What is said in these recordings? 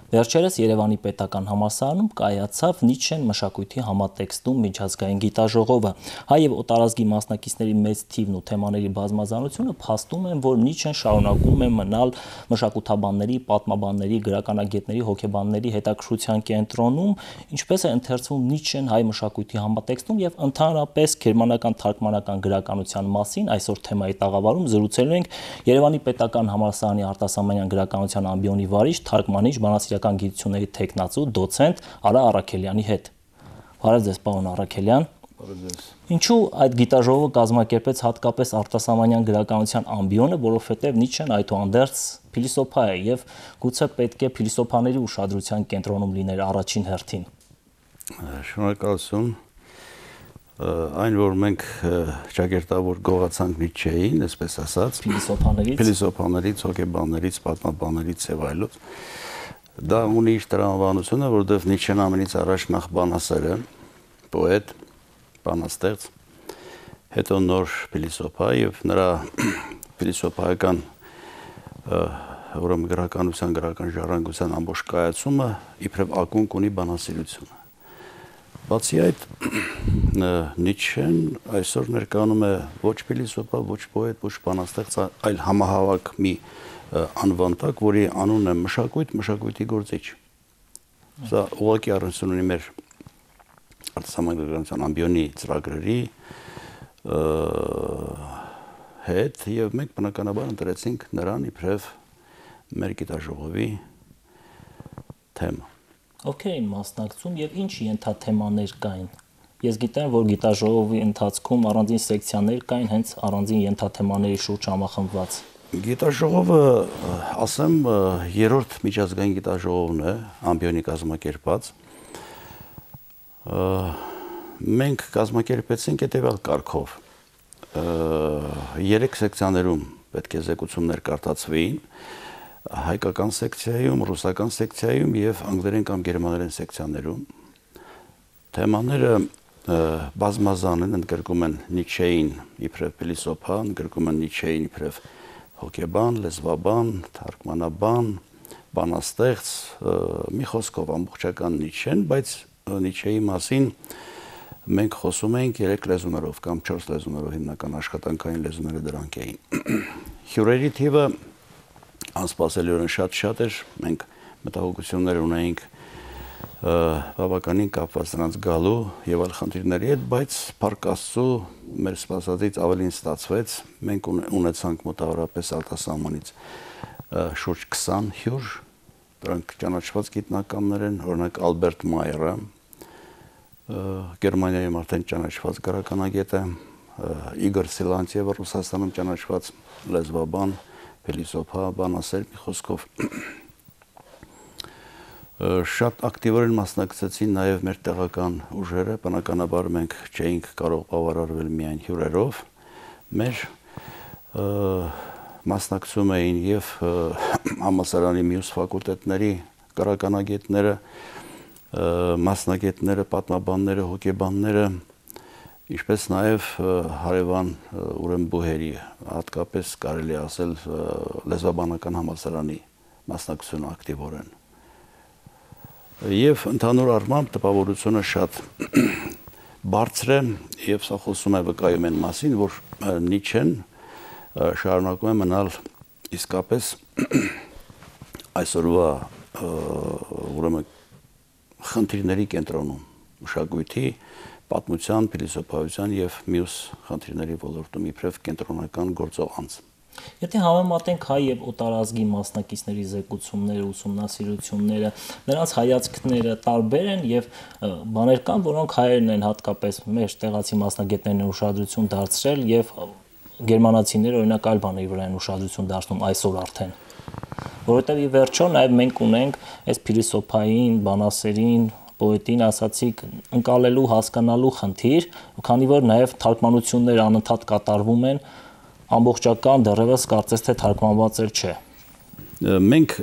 Վերջերս Երևանի պետական համալսարանում կայացավ Նիչշեն մշակույթի համատեքստում միջազգային գիտաժողովը։ Հայ եւ օտարազգի մասնակիցների մեծ թիվն ու թեմաների բազմազանությունը փաստում են, որ Նիչշեն շարունակում է մնալ մշակութաբանների, պատմաբանների, գրականագետների, հոգեբանների հետաքրքրության կենտրոնում, ինչպես է ընթերցվում Նիչշեն հայ մշակույթի համատեքստում եւ ընդհանրապես գերմանական թարգմանական գրականության մասին այսօր թեմայի տաղավարում զրուցելու ենք Երևանի պետական համալսարանի արտասահմանյան գրականության ամբիոնի վարիչ, թարգմանիչ, բանասիրական գիտությունների թեկնածու, դոցենտ Արա Առաքելյանի հետ։ Բարև ձեզ, պարոն Առաքելյան։ Բարև ձեզ։ Ինչու այդ գիտաժողովը կազմակերպեց հատկապես արտասահմանյան գրականության ամբիոնը, որովհետև Նիչշեն այդուհանդերձ փիլիսոփա է եւ գուցե պետք է փիլիսոփաների ուշադրության կենտրոնում լիներ առաջին հերթին։ Շնորհակալություն։ Այն որ մենք ճակերտավոր գողացանք Նիչշեին, այսպես ասած, փիլիսոփաներից, հոգեբաններից, պատմաբաններից եւ այլոց, դա ունի իր տրամաբանությունը, որովհետեւ Նիչշեն ամենից առաջ նախ բանասեր է, պոետ, բանաստեղծ, հետո նոր փիլիսոփա եւ նրա փիլիսոփայական ուրեմն գրականության, գրական ժառանգության ամբողջ կայացումը իբրև ակունք ունի բանասիրությունը։ Բացի այդ, Նիչշեն այսօր ներկայանում է ոչ փիլիսոփա, ոչ պոետ, ոչ բանաստեղծ, այլ համահավաք մի անվանտակ, որի անունն է մշակույթ, մշակույթի գործիչ։ Սա ուղղակի առնչություն ունի մեր արտասահմանյան գրականության ամբիոնի ծրագրերի հետ եւ մենք բնականաբար ընտրեցինք նրան իբրև մեր գիտաժողովի թեմա։ Ովքեր էին մասնակցում եւ ինչ ենթաթեմաներ կային։ Ես գիտեմ, որ գիտաժողովի ընթացքում առանձին սեկցիաներ կային հենց առանձին ենթաթեմաների շուրջ համախմբված։ Գիտաժողովը, ասեմ, երրորդ միջազգային գիտաժողովն է ամբիոնի կազմակերպած։ Մենք կազմակերպեցինք հետևյալ կարգով։ 3 սեկցիաներում պետք է զեկուցումներ կարդացվեին, հայկական սեկցիայում, ռուսական սեկցիայում եւ անգլերեն կամ գերմաներեն սեկցիաներում։ Թեմաները բազմազան են, ընդգրկում են Նիչշեին իբրև փիլիսոփա, ընդգրկում են Նիչշեին իբրև հոգեբան, լեզվաբան, թարգմանաբան, բանաստեղծ, մի խոսքով ամբողջական Նիչշեն, բայց Նիչշեի մասին մենք խոսում ենք 3 լեզուներով կամ 4 լեզուներով, հիմնական աշխատանքային լեզուները դրանք էին։ Հյուրերի թիվը անսպասելիորեն շատ էր, մենք մտահոգություններ ունեինք բավականին կապված նրանց գալու եւ այլ խնդիրների հետ, բայց փառք Աստծո մեր սպասածից ավելին ստացվեց, մենք ունեցանք մոտավորապես արտասահմանից շուրջ 20 հյուր, դրանք ճանաչված գիտնականներ են, օրինակ Ալբերտ Մայերը, Գերմանիայում արդեն ճանաչված գրականագետ է, Իգոր Սիլանտիևը Ռուսաստանում ճանաչված լեզվաբան, փիլիսոփա, բանասեր, մի խոսքով շատ ակտիվորեն մասնակցեցին նաև մեր տեղական ուժերը, բնականաբար մենք չէինք կարող բավարարվել միայն հյուրերով, մեր մասնակցում էին եւ համալսարանի մյուս ֆակուլտետների գրականագետները, մասնագետները, պատմաբանները, հոգեբանները, ինչպես նաև հարևան ուրեմն բուհերի, հատկապես կարելի ասել լեզվաբանական համալսարանի մասնակցությունը ակտիվորեն։ Եվ ընդհանուր առմամբ տպավորությունը շատ բարձր է եւ սա խոսում է վկայում են մասին, որ Նիչշեն շարունակում է մնալ իսկապես այսօրվա ուրեմն խնդիրների կենտրոնում, մշակույթի, պատմության, փիլիսոփայության եւ մյուս խնդիրների ոլորտում իբրև կենտրոնական գործող անձ։ Եթե համեմատենք հայ եւ օտարազգի մասնակիցների զեկուցումները, ուսումնասիրությունները, նրանց հայացքները տարբեր են եւ բաներ կան, որոնք հայերն են հատկապես մեր տեղացի մասնագետներն են ուշադրություն դարձրել եւ գերմանացիները օրինակ այլ բաների վրա են ուշադրություն դարձնում այսօր արդեն։ Որովհետեւ ի վերջո նաեւ մենք ունենք այս փիլիսոփային, բանասերին, պոետին ասացիք ընկալելու, հասկանալու խնդիր, քանի որ նաեւ թարգմանություններ անընդհատ կատարվում են, ամբողջական դեռևս կարծես թե թարգմանված չէ։ Մենք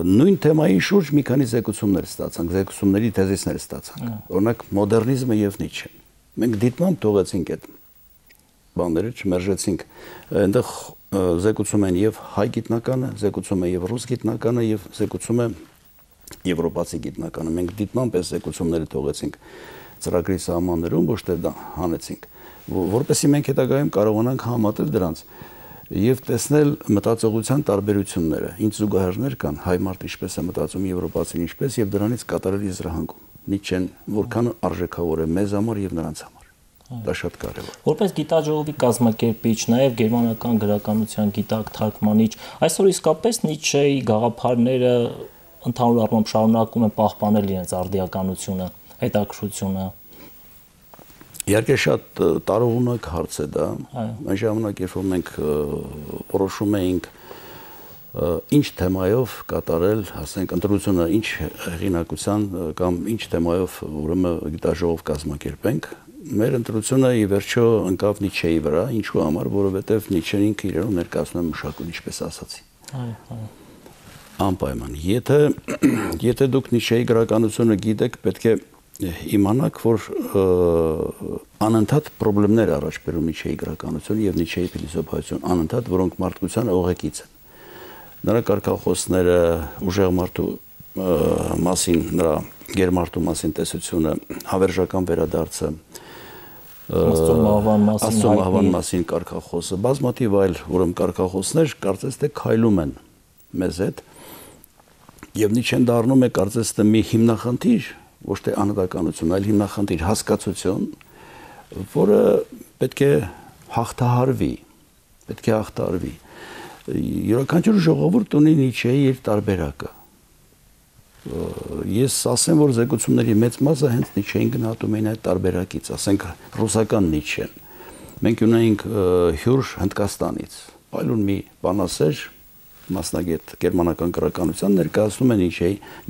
նույն թեմայի շուրջ մի քանի զեկուցումներ ստացանք, զեկուցումների թեզիսներ ստացանք։ Օրինակ մոդեռնիզմը եւ Նիչշեն։ Մենք դիտմամբ թողեցինք այդ բաները, չմերժեցինք։ Այնտեղ զեկուցում են եւ հայ գիտնականը, զեկուցում է եւ ռուս գիտնականը եւ զեկուցում է եվրոպացի գիտնականը։ Մենք դիտման պես զեկուցումները թողեցինք ծրագրի սահմաններում, ոչ թե դա հանեցինք, որպեսզի մենք հետագայում կարողանանք համատել դրանց եւ տեսնել մտածողության տարբերությունները։ Ինչ զուգահեռներ կան, հայ մարդ ինչպես է մտածում, եվրոպացին ինչպես, եւ դրանից կատարել եզրահանգում։ Նիչեն որքան արժեքավոր է մեզ համար եւ նրանց համար։ Դա շատ կարեւոր։ Որպես գիտաժողովի կազմակերպիչ, նաեւ գերմանական գրականության գիտակ թարգմանիչ, այսօր իսկապես Նիչեի գաղափարները ընդհանուր առմամբ շարունակում են պահպանել իրենց արդիականությունը, հետաքրքրությունը։ Իհարկե շատ տարողունակ հարց է դա։ Այն ժամանակ, երբ որ մենք որոշում էինք ինչ թեմայով կատարել, ասենք ընտրությունը ինչ հեղինակության կամ ինչ թեմայով ուրեմն գիտաժողով կազմակերպենք, մեր ընտրությունը ի վերջո ընկավ Նիչեի վրա, ինչու համար, որովհետև Նիչեն ինքը իրեն ներկայացնում է մշակույթ, ինչպես ասացի։ Անպայման։ Եթե դուք Նիչեի գրականությունը գիտեք, պետք է իմանաք, որ անընդհատ խնդիրներ առաջ բերում Նիչեի գրականությունը եւ Նիչեի փիլիսոփայություն, անընդհատ, որոնք մարդկության օղեկից են։ Նրա կարգախոսները, ուժեղ մարդու մասին, նրա գերմարտու մասին տեսությունը, հավերժական վերադարձը, Աստծո մահվան մասին կարգախոսը, բազմաթիվ այլ ուրեմն կարգախոսներ կարծես թե քայլում են մեզ հետ, եւ Նիչեն դառնում է կարծես թե մի հիմնախնդիր, ոչ թե անհատականություն, այլ հիմնախնդիր, հասկացություն, որը պետք է հաղթահարվի, Յուրաքանչյուր ժողովուրդ ունի Նիչեի իր տարբերակը։ Ես ասեմ, որ զեկուցումների մեծ մասը հենց Նիչեին գնահատում էին այդ տարբերակից, ասենք ռուսական Նիչեն։ Մենք ունեինք հյուր Հնդկաստանից, այլուն մի բանասեր, մասնագետ գերմանական գրականության ներկայացնում է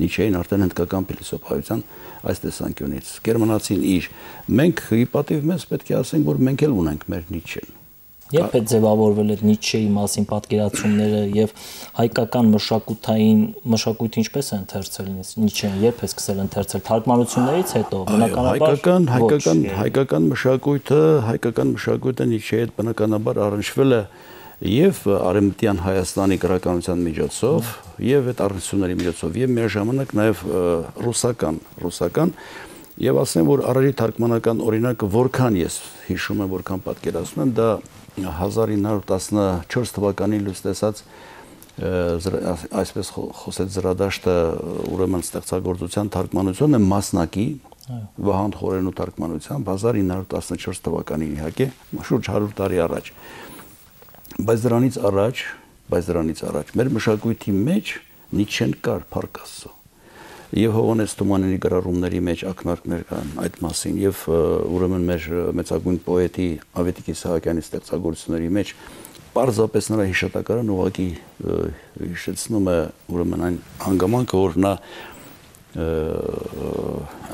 Նիչեին արդեն հնդկական փիլիսոփայության այս տեսանկյունից։ Գերմանացին իր, մենք ի պատիվ մեզ պետք է ասենք, որ մենք էլ ունենք մեր Նիչեն։ Երբ է ձևավորվել այդ Նիչեի մասին պատկերացումները եւ հայկական մշակույթը ինչպես է ընթերցել Նիչեն, երբ է սկսել ընթերցել թարգմանություններից հետո, բնականաբար հայկական մշակույթը Նիչեի հետ բնականաբար առնչվել է եւ արևմտյան Հայաստանի գրականության միջոցով եւ այդ առնչությունների միջոցով եւ միաժամանակ նաեւ ռուսական եւ ասեմ, որ առարի թարգմանական օրինակը որքան ես հիշում եմ, որքան պատկերացնում եմ, դա 1914 թվականին լույս տեսած այսպես խոսեց Զրադաշտը ուրեմն ստեղծագործության թարգմանությունը մասնակի Վահան Խորենու թարգմանությամբ 1914 թվականին իհարկե շուրջ 100 տարի առաջ բայց դրանից առաջ մեր մշակույթի մեջ Նիչեն կար Փառք Աստծո եւ Հովհաննես Թումանյանի գրառումների մեջ ակնարկներ կան այդ մասին եւ ուրեմն մեր մեծագույն պոետի Ավետիք Իսահակյանի ստեղծագործությունների մեջ պարզապես նրա հիշատակարան ուղղակի հիշեցնում է ուրեմն այն հանգամանքը, որ նա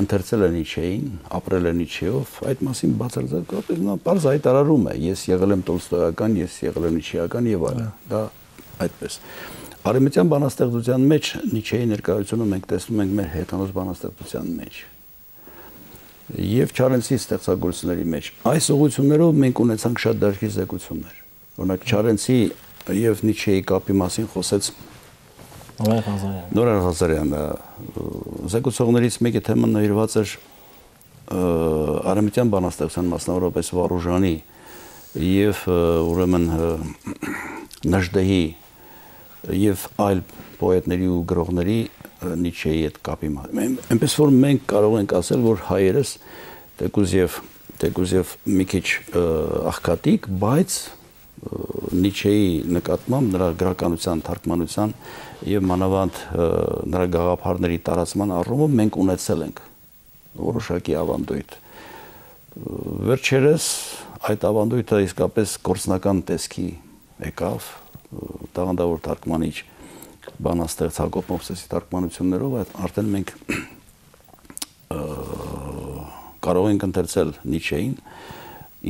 ընթերցել է Նիչեին, ապրել է Նիչեով, այդ մասին բացարձակապես նա պարզ հայտարարում է, ես եղել եմ տոլստոյական, ես եղել եմ նիչեական եւ այլն, դա այդպես։ Արևմտյան բանաստեղծության մեջ Նիչեի ներկայությունը մենք տեսնում ենք մեր հեթանոս բանաստեղծության մեջ եւ Չարենցի ստեղծագործությունների մեջ։ Այս ուղղություններով մենք ունեցանք շատ դաշտի զեկուցումներ։ Օրինակ Չարենցի եւ Նիչեի կապի մասին խոսեց Նորայր Ղազարյանը, զեկուցողներից մեկի թեման նվիրված էր արևմտյան բանաստեղծության, մասնավորապես Վարուժանի եւ ուրեմն Նժդեհի եւ այլ պոետների ու գրողների Նիչեի հետ կապի մասին։ Այնպես որ մենք կարող ենք ասել, որ հայերս թեկուզ եւ մի քիչ աղքատիկ, բայց Նիչեի նկատմամբ նրա գրականության, թարգմանության եւ մանավանդ նրա գաղափարների տարածման առումով մենք ունեցել ենք որոշակի ավանդույթ։ Վերջերս այդ ավանդույթը իսկապես գործնական տեսքի եկավ, տաղանդավոր թարգմանիչ բանաստեղծ Հակոբ Մովսեսի թարգմանություններով արդեն մենք կարող ենք ընթերցել Նիչեին,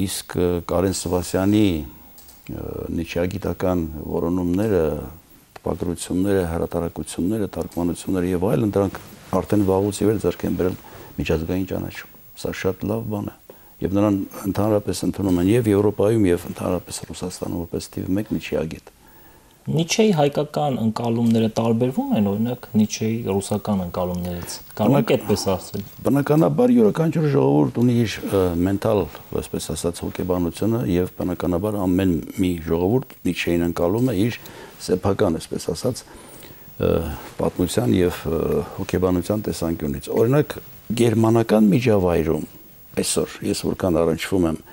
իսկ Կարեն Սվասյանի նիչեագիտական որոնումները, տպագրությունները, հրատարակությունները, թարգմանությունները եւ այլն դրանք արդեն վաղուց ի վեր ձեռք են բերել միջազգային ճանաչում։ Սա շատ լավ բան է եւ նրան ընդհանրապես ընդունում են եւ Եվրոպայում եւ ընդհանրապես Ռուսաստանում որպես թիվ 1 նիչեագետ։ Նիչեի հայկական ընկալումները տարբերվում են օրինակ Նիչեի ռուսական ընկալումներից։ Կարող այդպես ասել։ Բնականաբար յուրաքանչյուր ժողովուրդ ունի իր մենտալ, այսպես ասած, հոգեբանությունը եւ բնականաբար ամեն մի ժողովուրդ Նիչեին ընկալում է իր սեփական, այսպես ասած, պատմության եւ հոգեբանության տեսանկյունից։ Օրինակ գերմանական միջավայրում այսօր ես որքան առնչվում եմ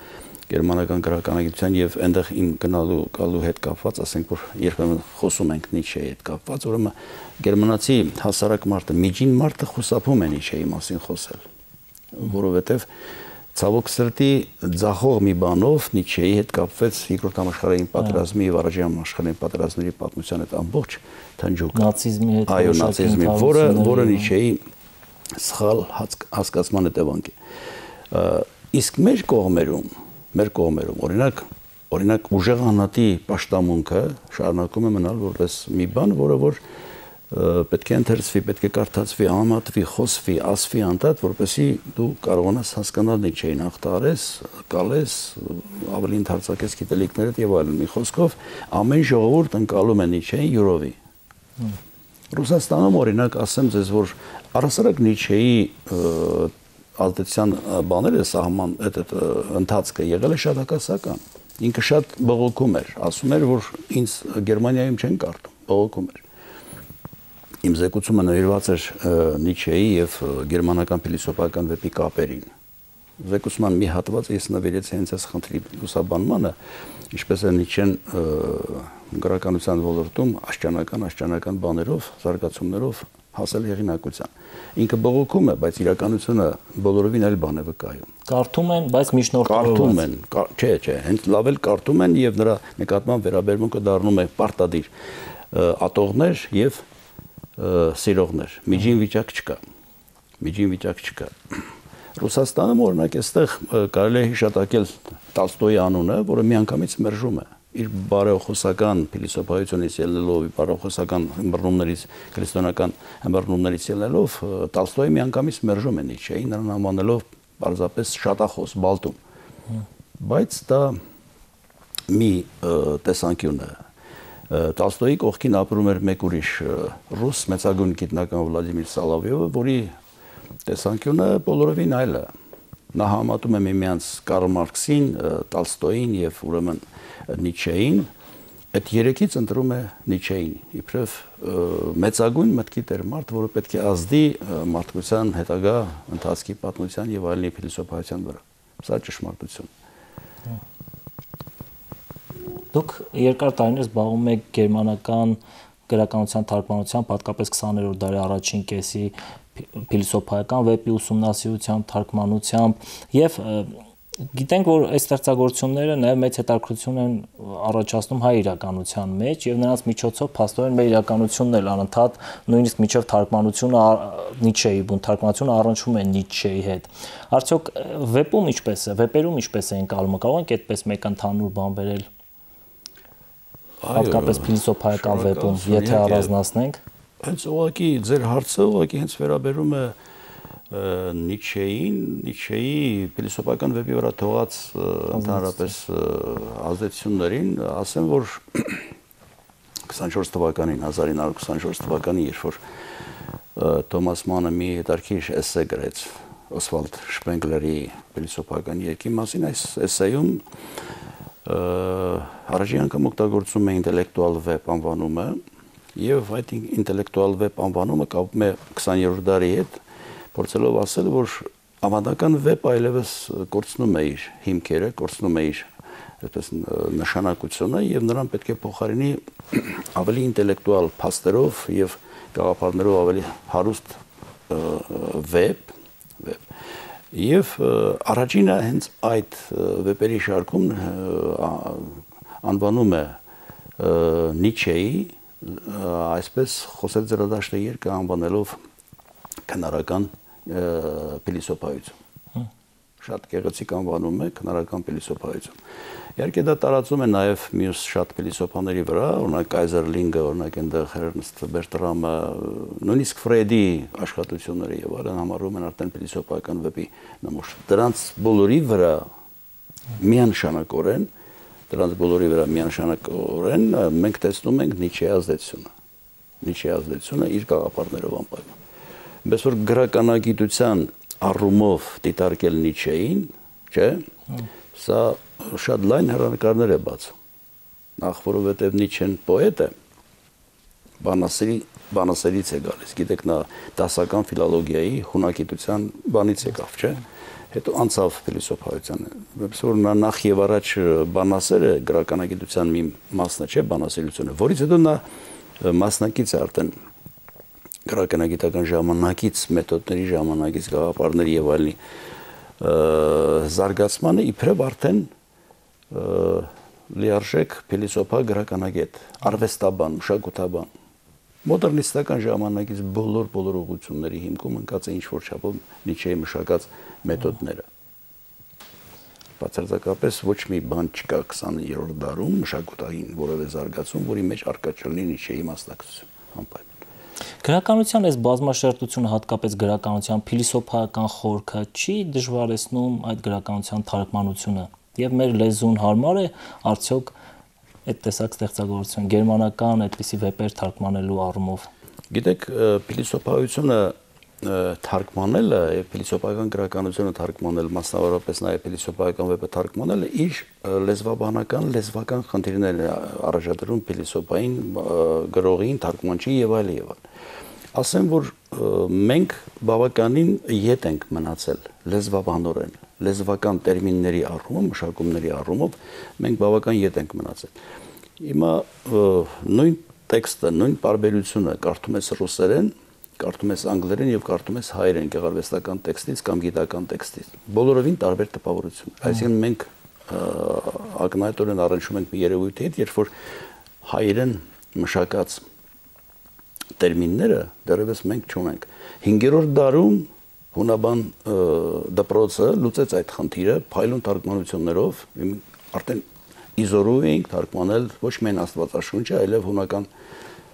գերմանական գրականագիտության եւ այնտեղ իմ գնալու հետ կապված, ասենք որ երբեմն խոսում ենք Նիչեի հետ կապված, ուրեմն գերմանացի հասարակ մարդը, միջին մարդը խուսափում է Նիչեի մասին խոսել, որովհետեւ ցավոք սրտի ձախող մի բանով Նիչեի հետ կապվեց Երկրորդ համաշխարհային պատերազմի եւ Առաջին համաշխարհային պատերազմների պատմության հետ ամբողջ թնջուկ նացիզմի հետ, այո, նացիզմի, որը Նիչեի սխալ հասկացման հետևանք է։ Իսկ մեր կողմերում օրինակ ուժեղանատի պաշտամունքը շարունակում է մնալ որպես մի բան, որը որ պետք է ընթերցվի, պետք է կարդացվի, համատվի, խոսվի, ասվի անդադ, որպեսզի դու կարողանաս հասկանալ Նիչեին, ախտարես, կալես, ավելի ընդարձակես գիտելիքներդ եւ այլն։ Մի խոսքով ամեն ժողովուրդ ընկալում է Նիչեին յուրովի։ Ռուսաստանում օրինակ ասեմ ձեզ, որ առասարակ Նիչեի ազդեցության բաները ընթացքը եղել է շատ հակասական։ Ինքը շատ բողոքում էր, ասում էր, որ ինձ Գերմանիայում չեն կարդում, բողոքում էր։ Իմ զեկուցումը նվիրված էր Նիչեի եւ գերմանական փիլիսոփայական վեպի կապերին։ Զեկուցման մի հատված ես նվիրեցի հենց այս խնդրի լուսաբանմանը, ինչպես է Նիչեն գրականության ոլորտում աշճանական բաներով, զարգացումներով հասել հեղինակության։ Ինքը բողոքում է, բայց իրականությունը բոլորովին այլ բան է վկայում։ Կարդում են, բայց միջնորդորոշ։ Կարդում են, չէ, հենց լավ էլ կարդում են եւ նրա նկատմամբ վերաբերմունքը դառնում է պարտադիր ատողներ եւ սիրողներ։ Միջին վիճակ չկա։ Ռուսաստանում օրինակ այստեղ կարելի է հիշատակել Տոլստոյի անունը, որը միանգամից մերժում է իր բարեխոսական փիլիսոփայությունից ելնելով, բարեխոսական ըմբռնումներից, քրիստոնեական ըմբռնումներից ելնելով, Տոլստոյը միանգամից մերժում է Նիչեին, նրան անվանելով պարզապես շատախոս, բալտում։ Բայց դա մի տեսանկյուն է։ Տոլստոյի կողքին ապրում էր մեկ ուրիշ ռուս մեծագույն գիտնական Վլադիմիր Սոլովյովը, որի տեսանկյունը բոլորովին այլ է։ Նա համատում է միմյանց Կարլ Մարքսին, Տոլստոյին եւ ուրեմն Նիչեին, այդ երեքից ընտրում է Նիչեին, իբրև մեծագույն մտքի տերմարդ, որը պետք է ազդի մարդկության հետագա ընթացքի պատմության եւ այլնի փիլիսոփայության վրա։ Սա ճշմարտություն։ Դուք երկար տարիներ զբաղվում եք գերմանական գրականության թարգմանությամբ, հատկապես 20-րդ դարի առաջին կեսի փիլիսոփայական վեպի ուսումնասիրությամբ, թարգմանությամբ եւ գիտենք, որ այս ստեղծագործությունները նաև մեծ հետաքրքրություն են առաջացնում հայ իրականության մեջ եւ նրանց միջոցով փաստորեն մեր իրականությունն էլ անընդհատ նույնիսկ միջև թարգմանությունը Նիչեի բուն թարգմանությունը առնչվում է Նիչեի հետ։ Արդյոք վեպում ինչպես է, վեպերում ինչպես է ընկալումը, կարող ենք այդպես մեկ ընդհանուր բան բերել։ Հատկապես փիլիսոփայական վեպում, եթե առանձնացնենք։ Հենց ուղղակի ձեր հարցը ուղղակի հենց վերաբերում է Նիչեի փիլիսոփայական վեպի վրա թողած ընդհանրապես ազդեցություններին, ասեմ, որ 24 թվականին, 1924 թվականին, երբ որ Թոմաս Մանը մի հետաքրքիր էսսե գրեց Օսվալդ Շպենգլերի փիլիսոփայական երկի մասին, այս էսսեյում առաջին անգամ օգտագործում է ինտելեկտուալ վեպ անվանումը եւ այդ ինտելեկտուալ վեպ անվանումը կապում է 20-րդ դարի հետ, փորձելով ասել, որ ավանդական վեպը այլևս կորցնում է իր հիմքերը, կորցնում է իր այդպես նշանակությունը եւ նրան պետք է փոխարինի ավելի ինտելեկտուալ փաստերով եւ գաղափարներով ավելի հարուստ վեպ եւ առաջինը հենց այդ վեպերի շարքում անվանում է Նիչեի, այսպես խոսել ձեռադաշտը երկը անվանելով քնարական փիլիսոփայություն։ Շատ գեղեցիկ անվանում է քնարական փիլիսոփայություն։ Իհարկե դա տարածում է նաև մյուս շատ փիլիսոփաների վրա, օրինակ Կայզերլինգը, օրինակ այնտեղ Էրնստ Բերտրամը, նույնիսկ Ֆրեյդի աշխատությունները եւ այլն համարվում են արդեն փիլիսոփայական վեպի նմուշ։ Դրանց բոլորի վրա միանշանակորեն դրանց բոլորի վրա միանշանակորեն մենք տեսնում ենք Նիչեի ազդեցությունը իր գաղափարներով անպայման։ Բայց որ գրականագիտության առումով դիտարկել Նիչեին, չէ, սա շատ լայն հեռանկարներ է բացում։ Նախ որովհետև Նիչեն պոետ է, բանասերից է գալիս, գիտեք նա դասական ֆիլոլոգիայի հունակիտության բանից եկավ, չէ, հետո անցավ փիլիսոփայությանը, որպես որ նա նախ եւ առաջ բանասերը գրականագիտության մի մասն է, չէ, բանասերությունը, որից հետո նա մասնակից է արդեն գրականագիտական ժամանակից, մեթոդների ժամանակից, գաղափարների եւ այլնի զարգացմանը իբրև արդեն լիարժեք փիլիսոփա գրականագետ, արվեստաբան, մշակութաբան մոդեռնիստական ժամանակից բոլոր ուղղությունների հիմքում ընկած է ինչ-որ չափով Նիչեի մշակած մեթոդները։ Բացարձակապես ոչ մի բան չկա 20-րդ դարում մշակութային որևէ զարգացում, որի մեջ առկա չլինի Նիչեի մասնակցություն, անպայման։ Գրականության այս բազմաշերտությունը, հատկապես գրականության փիլիսոփայական խորքը չի դժվարեցնում այդ գրականության թարգմանությունը, եւ մեր լեզուն հարմար է արդյոք այդ տեսակ ստեղծագործություն գերմանական այդպիսի վեպեր թարգմանելու առումով։ Գիտեք, փիլիսոփայությունը թարգմանելը եւ փիլիսոփայական գրականությունը թարգմանել, մասնավորապես նաեւ փիլիսոփայական վեպը թարգմանելը իր լեզվական խնդիրներն է առաջադրում փիլիսոփային գրողին, թարգմանչին եւ այլ եւ այլ։ Ասեմ, որ մենք բավականին ետ ենք մնացել լեզվաբանորեն, լեզվական տերմինների առումով, մշակումների առումով մենք բավական ետ ենք մնացել։ Հիմա նույն տեքստը, նույն պարբերությունը կարդում ես ռուսերեն, կարդում ես անգլերեն եւ կարդում ես հայերեն գեղարվեստական տեքստից կամ գիտական տեքստից։ Բոլորովին տարբեր տպավորություն։ Այսինքն մենք ակնհայտորեն առնչում ենք մի երևույթի հետ, երբ որ հայերեն մշակած տերմինները դեռևս մենք չունենք։ 5-րդ դարում հունաբան դպրոցը լուծեց այդ խնդիրը փայլուն թարգմանություններով, արդեն իզորու էինք թարգմանել ոչ միայն Աստվածաշունչը, այլև հունական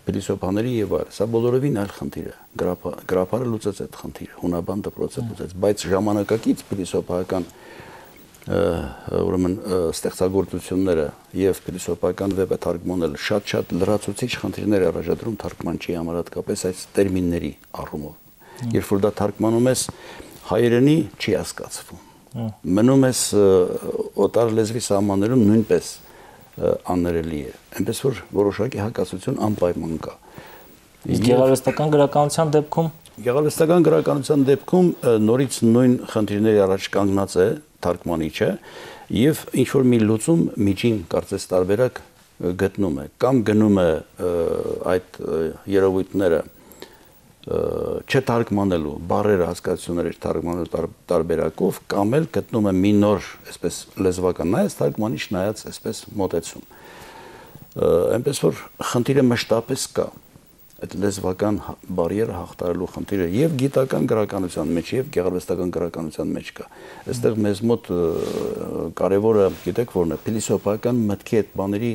փիլիսոփաների եւ այլ։ Սա բոլորովին այլ խնդիր է։ Գրապարը լուծեց այդ խնդիրը, հունաբան դպրոցը լուծեց, բայց ժամանակակից փիլիսոփայական ուրեմն ստեղծագործությունները եւ փիլիսոփայական վեպը թարգմանել շատ լրացուցիչ խնդիրներ առաջադրում թարգմանչի համար, հատկապես այս տերմինների առումով։ Երբ որ դա թարգմանում ես հայերենի չի հասկացվում։ Մնում ես օտար լեզվի սահմաններում նույնպես աններելի է։ Այնպես որ որոշակի հակասություն անպայման կա։ Գեղարվեստական գրականության դեպքում նորից նույն խնդիրների առաջ կանգնած է թարգմանիչը եւ ինչ որ մի լուծում միջին կարծես տարբերակ գտնում է կամ գնում է այդ երևույթները չթարգմանելու բառերը հասկացությունները թարգմանելու տարբերակով կամ էլ գտնում է մի նոր այսպես լեզվական նայած թարգմանիչ նայած այսպես մոտեցում այնպես որ խնդիրը մշտապես կա այդ լեզվական բարիերը հաղթարելու խնդիրը եւ գիտական գրականության մեջ եւ գեղարվեստական գրականության մեջ կա այստեղ մեզ մոտ կարեւորը գիտեք որն է փիլիսոփայական մտքի այդ բաների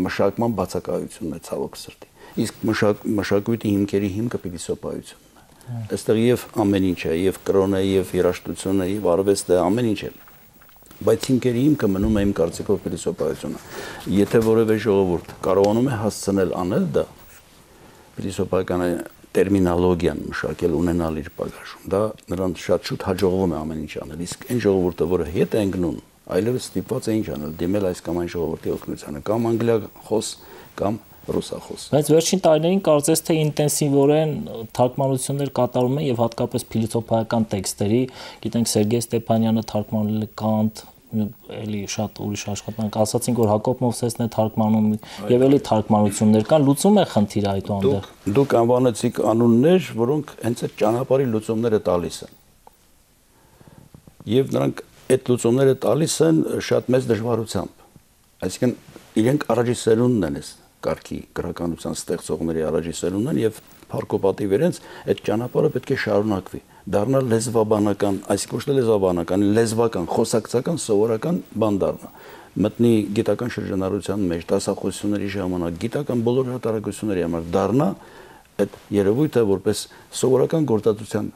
մշակման բացակայությունն է ցավոք սրտի իսկ մշակույթի հիմքերի հիմքը փիլիսոփայությունն է այստեղ եւ ամեն ինչ է եւ կրոնը եւ երաժշտությունը եւ արվեստը ամեն ինչ է բայց հիմքերի հիմքը մնում է իմ կարծիքով փիլիսոփայությունը եթե որևէ ժողովուրդ կարողանում է հասցնել անել դա փիլիսոփայական տերմինոլոգիան մշակել ունենալ իր բագաժում դա նրան շատ շուտ հաջողվում է ամեն ինչ անել իսկ այն ժողովուրդը որը հետ է ընկնում այլևս ստիպված է ինչ անել դիմել այս կամ այն ժողովրդի օգնությանը կամ անգլիախոս կամ ռուսախոս բայց վերջին տարիներին կարծես թե ինտենսիվորեն թարգմանություններ կատարում են եւ հատկապես փիլիսոփայական տեքստերի գիտենք Սերգեյ Ստեփանյանը թարգմանել է Կանտ էլի շատ ուրիշ աշխատանք ասացինք որ Հակոբ Մովսեսն է թարգմանում եւ էլի թարգմանություններ կան լուծում է խնդիրը այդուհանդերձ դուք անվանեցիք անուններ որոնք հենց այդ ճանապարհի լուծումները տալիս են եւ նրանք այդ լուծումները տալիս են շատ մեծ դժվարությամբ այսինքն իրենք առաջի սերունդն են կարգի գրականության ստեղծողների առաջի սերունդն են եւ փառքոպատիվ իրենց այդ ճանապարհը պետք է շարունակվի դառնալ լեզվաբանական այսինքն ոչ թե լեզվաբանական լեզվական խոսակցական սովորական բան դառնա մտնի գիտական շրջանառության մեջ դասախոսությունների ժամանակ գիտական բոլոր հատարակությունների համար դառնա այդ երևույթը որպես սովորական գործածության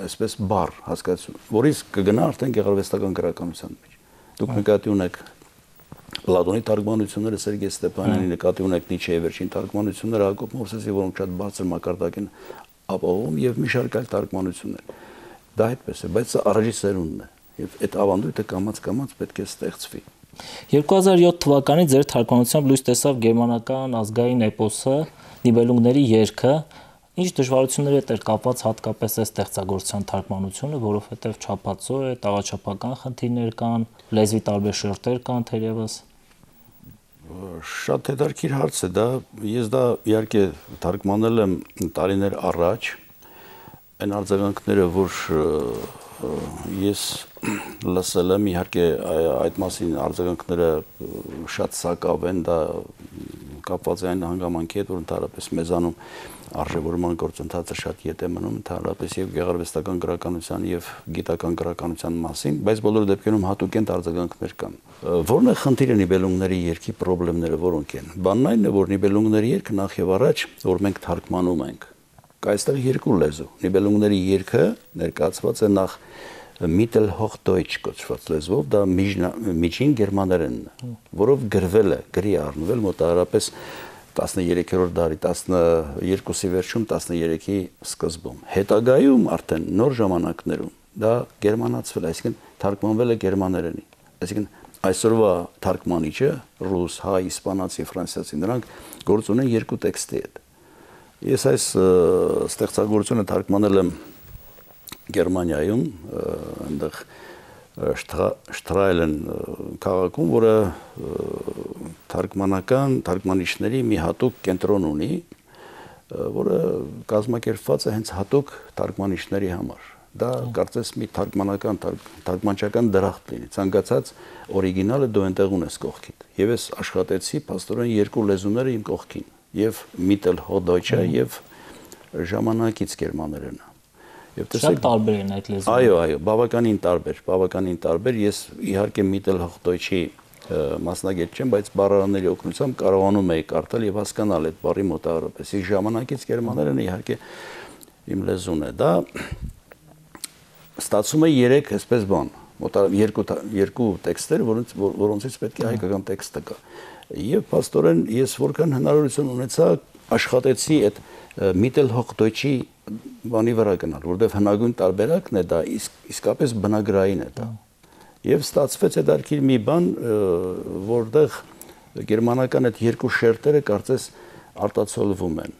այսպես բառ հասկացություն որից կգնա արդեն գեղարվեստական գրականության մեջ դուք նկատի ունեք Պլատոնի թարգմանությունները Սերգեյ Ստեփանյանի նկատի ունեք Նիչեի վերջին թարգմանությունները Հակոբ Մովսեսի, որոնք շատ բարձր մակարդակ են ապահովում եւ մի շարք այլ թարգմանություններ։ Դա այդպես է, բայց սա առաջի սերունդն է եւ այդ ավանդույթը կամաց-կամաց պետք է ստեղծվի։ 2007 թվականին ձեր թարգմանությամբ լույս տեսավ գերմանական ազգային էպոսը Նիբելունգների երգը, ինչ դժվարությունների հետ էր կապված հատկապես այս ստեղծագործության թարգմանությունը, որովհետև չափածո է, տաղաչափական խնդիրներ կան, լեզվի տարբեր շերտեր կան թերևս։ Շատ հետաքրքիր հարց է դա, ես դա իհարկե թարգմանել եմ տարիներ առաջ, այն արձագանքները, որ ես լսել եմ, իհարկե այդ մասին արձագանքները շատ սակավ են, դա կապված է այն հանգամանքի հետ, որ ընդհանրապես մեզանում արժևորման գործընթացը շատ ետ է մնում, ընդհանրապես եւ գեղարվեստական գրականության եւ գիտական գրականության մասին, բայց բոլոր դեպքերում հատուկենտ արձագանքներ կան։ Որն է խնդիրը Նիբելունգների երգի խնդիրները որոնք են։ Բանն այն է, որ Նիբելունգների երգը նախ եւ առաջ, որ մենք թարգմանում ենք, կա այստեղ երկու լեզու։ Նիբելունգների երգը ներկայացված է նախ Mittelhochdeutsch կոչված լեզվով, դա միջին գերմաներենն է, որով գրվել է, գրի առնվել մոտավորապես 13-րդ դարի 12-ի վերջում 13-ի սկզբում։ Հետագայում արդեն նոր ժամանակներում դա գերմանացվել է, այսինքն թարգմանվել է գերմաներենի։ Այսինքն այսօրվա թարգմանիչը ռուս, հայ, իսպանացի, ֆրանսիացի նրանք գործ ունեն երկու տեքստի հետ։ Ես այս ստեղծագործությունը թարգմանել եմ Գերմանիայում, այնտեղ Շտրայլեն քաղաքում, որը թարգմանիչների մի հատուկ կենտրոն ունի, որը կազմակերպված է հենց հատուկ թարգմանիչների համար։ Դա կարծես մի թարգմանչական դրախտ լինի, ցանկացած օրիգինալը դու այնտեղ ունես կողքիդ։ Եվ ես աշխատեցի փաստորեն երկու լեզուները իմ կողքին, եւ Mittelhochdeutsch-ը եւ ժամանակից գերմաներենը։ Շատ տարբեր են այդ լեզուները։ Այո, բավականին տարբեր։ Ես իհարկե Mittelhochdeutsch-ի մասնագետ չեմ, բայց բառարանների օգնությամբ կարողանում եի կարդալ եւ հասկանալ այդ բառի մոտավորապես։ Իսկ ժամանակից գերմաներենը իհարկե իմ լեզուն է։ Դա ստացում է 3 այսպես բան, երկու տեքստեր, որոնցից պետք է հայկական տեքստը կա։ Եվ փաստորեն ես որքան հնարավորություն ունեցա աշխատեցի այդ Mittelhochdeutsch-ի բանի վրա գնալ, որովհետև հնագույն տարբերակն է դա, իսկապես բնագրային է դա։ Եվ ստացվեց այդ արքիր մի բան, որտեղ գերմանական այդ երկու շերտերը կարծես արտացոլվում են։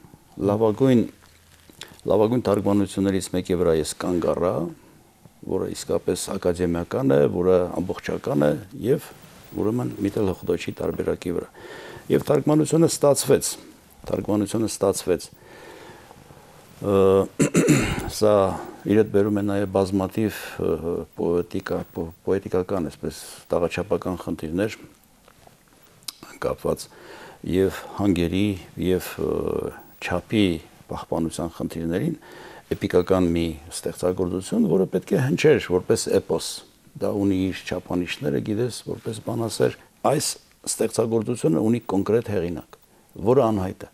Լավագույն թարգմանություններից մեկի վրա ես կանգ առա, որը իսկապես ակադեմիական է, որը ամբողջական է եւ ուրեմն Mittelhochdeutsch-ի տարբերակի վրա։ Եվ թարգմանությունը ստացվեց։ Սա իր հետ բերում է նաև բազմաթիվ պոետիկական, այսպես տաղաչափական խնդիրներ կապված եւ հանգերի եւ չափի պահպանության խնդիրներին, էպիկական մի ստեղծագործություն, որը պետք է հնչեր որպես էպոս։ Դա ունի իր չափանիշները, գիտես, որպես բանասեր, այս ստեղծագործությունը ունի կոնկրետ հեղինակ, որը անհայտ է։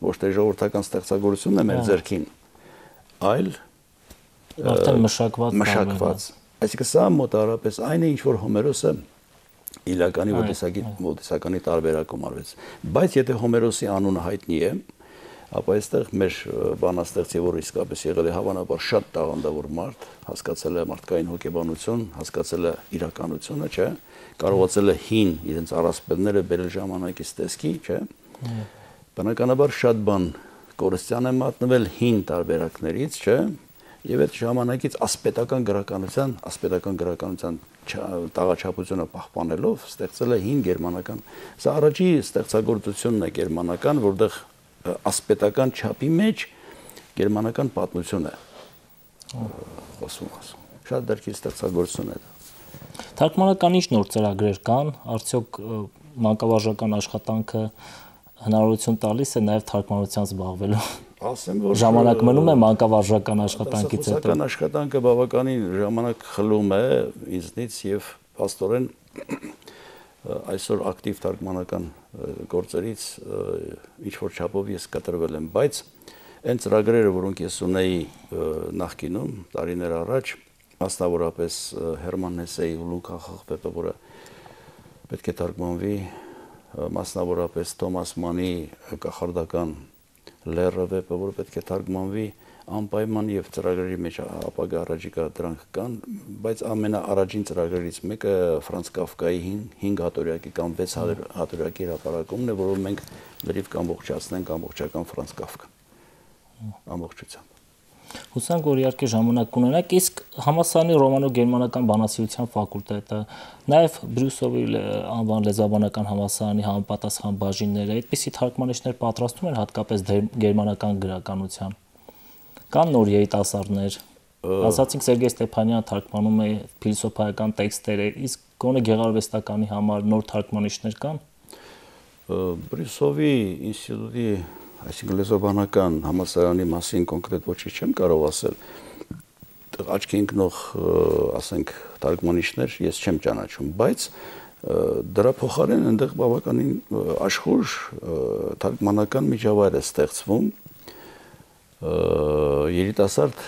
Ոչ թե ժողովրդական ստեղծագործությունն է մեր ձեռքին, այլ արդեն մշակված։ Այսինքն սա մոտավորապես այն է, ինչ որ Հոմերոսը Իլիականի Ոդիսականի տարբերակում արվեց։ Բայց եթե Հոմերոսի անունը հայտնի է, ապա այստեղ մեր բանաստեղծի, որ իսկապես եղել է հավանաբար շատ տաղանդավոր մարդ, հասկացել է մարդկային հոգեբանություն, հասկացել է իրականությունը, չէ՞, կարողացել է հին իրենց առասպելները բերել ժամանակից տեսքի, չէ՞։ Բնականաբար շատ բան կորստյան է մատնվել հին տարբերակներից, չէ՞, եւ այդ ժամանակից ասպետական գրականության տաղաչափությունը պահպանելով ստեղծել է հին գերմանական։ Սա առաջի ստեղծագործությունն է գերմանական, որտեղ ասպետական չափի մեջ գերմանական պատմություն է խոսում։ Շատ դեռքի ստեղծագործություն է դա։ Թարգմանական ինչ նոր ծրագրեր կան, արդյոք մանկավարժական աշխատանքը հնարավորություն տալիս է նաև թարգմանությամբ զբաղվելու։ Ասեմ, որ ժամանակ մնում է մանկավարժական աշխատանքից հետո։ Մանկավարժական աշխատանքը բավականին ժամանակ խլում է ինձնից եւ փաստորեն այսօր ակտիվ թարգմանական գործերից ինչ որ չափով ես կտրվել եմ, բայց այն ծրագրերը, որոնք ես ունեի նախկինում տարիներ առաջ, մասնավորապես Հերման Հեսեի ու Լուկա Խախպեպը, որը պետք է թարգմանվի մասնավորապես Թոմաս Մանի կախարդական լեռը վեպը, որը պետք է թարգմանվի անպայման եւ ծրագրերի մեջ ապագա առաջիկա դրանք կան, բայց ամենաառաջին ծրագրերից մեկը Ֆրանց Կաֆկայի 5 հատորյակի կամ 6 հատորյակի հրապարակումն է, որով մենք լրիվ կամբողջացնենք ամբողջական Ֆրանց Կաֆկան ամբողջությամբ։ Հուսանք, որ իհարկե ժամանակ կունենաք, իսկ համալսարանի ռոմանո-գերմանական բանասիրության ֆակուլտետը, նաև Բրյուսովի անվան լեզվաբանական համալսարանի համապատասխան բաժինները այդպիսի թարգմանիչներ պատրաստում են հատկապես գերմանական գրականության։ Կան նոր երիտասարդներ, ասացինք Սերգեյ Ստեփանյանը թարգմանում է փիլիսոփայական տեքստեր, իսկ գոնե գեղարվեստականի համար նոր թարգմանիչներ կան։ Բրյուսովի ինստիտուտի, այսինքն լեզվաբանական համալսարանի մասին կոնկրետ ոչինչ չեմ կարող ասել, աչքի ընկնող, ասենք, թարգմանիչներ ես չեմ ճանաչում, բայց դրա փոխարեն այնտեղ բավականին աշխույժ թարգմանական միջավայր է ստեղծվում երիտասարդ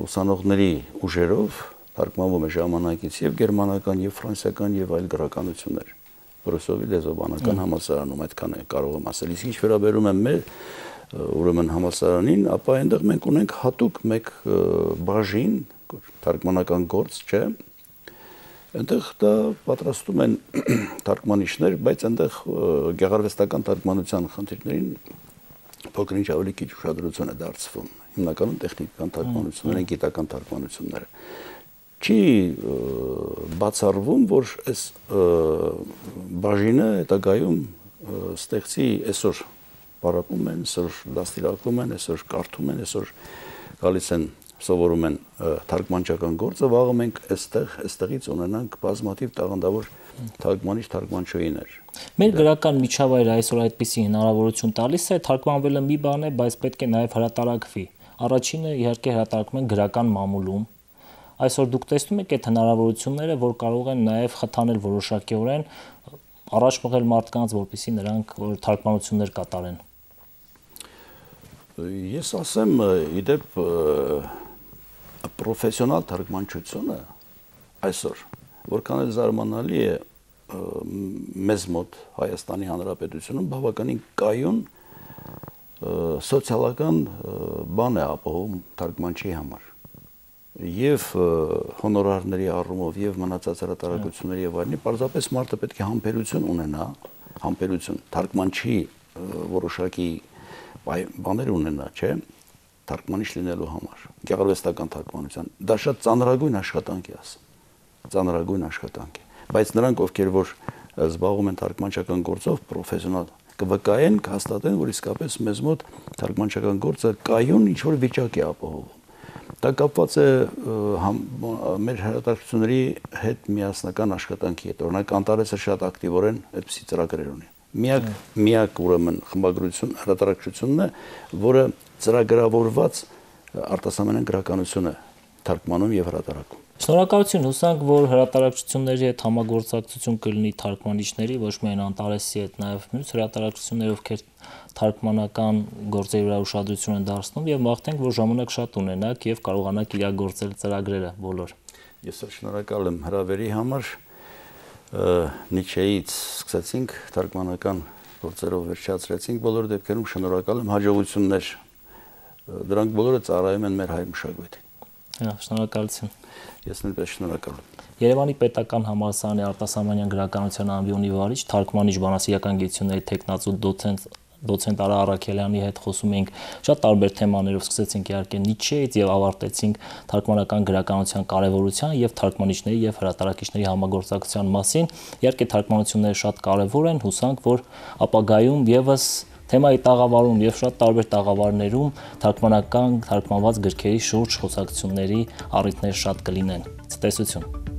ուսանողների ուժերով, թարգմանվում է ժամանակից եւ գերմանական, եւ ֆրանսիական, եւ այլ գրականություններ։ Բրյուսովի լեզվաբանական համալսարանում այդքան է կարող եմ ասել։ Իսկ ինչ վերաբերում է մեր ուրեմն համալսարանին, ապա այնտեղ մենք ունենք հատուկ մեկ բաժին, թարգմանական գործ, չէ։ Այնտեղ դա պատրաստում են թարգմանիչներ, բայց այնտեղ գեղարվեստական թարգմանության խնդիրներին փոքր-ինչ ավելի քիչ ուշադրություն է դարձվում։ Հիմնականում տեխնիկական թարգմանություններ են, գիտական թարգմանությունները։ Չի բացառվում, որ այս բաժինը հետագայում ստեղծի այսօր պարապում են, այսօր դաստիարակում են, այսօր կարդում են, այսօր գալիս են սովորում են թարգմանչական գործը, վաղը մենք այստեղից ունենանք բազմաթիվ տաղանդավոր թարգմանիչ-թարգմանչուհիներ։ Մեր գրական միջավայրը այսօր այդպիսի հնարավորություն տալիս է, թարգմանվելը մի բան է, բայց պետք է նաև հրատարակվի։ Առաջինը իհարկե հրատարակում են գրական մամուլում։ Այսօր դուք տեսնում եք այդ հնարավորությունները, որ կարող են նաև խթանել որոշակիորեն առաջ մղել մարդկանց, որպեսզի նրանք թարգմանություններ կատարեն։ Ես ասեմ, իդեպ պրոֆեսիոնալ թարգմանչությունը այսօր որքան էլ զարմանալի է մեզ մոտ Հայաստանի Հանրապետությունում բավականին կայուն սոցիալական բան է ապահովում թարգմանչի համար եւ հոնորարների առումով եւ մնացած հրատարակությունների եւ այլնի պարզապես մարդը պետք է համբերություն ունենա, համբերություն թարգմանչի որոշակի բաներ ունենա, չէ՞, թարգմանիչ լինելու համար, գեղարվեստական թարգմանության։ Դա շատ ծանրագույն աշխատանք է, ասեմ, ծանրագույն աշխատանք է, բայց նրանք, ովքեր որ զբաղվում են թարգմանչական գործով, պրոֆեսիոնալ կվկայեն, կհաստատեն, որ իսկապես մեզ մոտ թարգմանչական գործը կայուն ինչ-որ վիճակ է ապահովում։ Դա կապված է մեր հրատարակությունների հետ միասնական աշխատանքի հետ։ Օրինակ Անտարեսը շատ ակտիվորեն այդպիսի ծրագրեր ունի։ Միակ ուրեմն խմբագրություն հրատարակությունն է, որը ծրագրավորված արտասահմանյան գրականություն է թարգմանում եւ հրատարակում։ Շնորհակալություն, հուսանք, որ հրատարակությունների հետ համագործակցություն կլինի թարգմանիչների, ոչ միայն Անտարեսի հետ, նաև մյուս հրատարակությունների, ովքեր թարգմանական գործերի վրա ուշադրություն են դարձնում եւ մաղթենք, որ ժամանակ շատ ունենաք եւ կարողանաք իրագործել ծրագրերը բոլոր։ Ես շնորհակալ եմ հրավերի համար։ Նիչեից սկսեցինք թարգմանական գործերով վերջացրեցինք բոլոր դեպքերում շնորհակալ եմ, հաջողություններ։ Դրանք բոլորը ծառայում են մեր հայ մշակույթին։ Շնորհակալություն։ Ես նույնպես շնորհակալ եմ։ Երևանի պետական համալսարանի արտասահմանյան գրականության ամբիոնի վարիչ, թարգմանիչ բանասիրական գիտությունների թեկնածու դոցենտ Արա Առաքելյանի հետ խոսում էինք շատ տարբեր թեմաներով, սկսեցինք իհարկե Նիչեից եւ ավարտեցինք թարգմանական գրականության կարեւորության եւ թարգմանիչների եւ հրատարակիչների համագործակցության մասին։ Իհարկե թարգմանությունները շատ կարեւոր են, հուսանք, որ ապագայում եւս թեմայի տաղավարում եւ շատ տարբեր տաղավարներում թարգմանական թարգմանված գրքերի շուրջ խոսակցությունների առիթներ շատ կլինեն։ Ցտեսություն։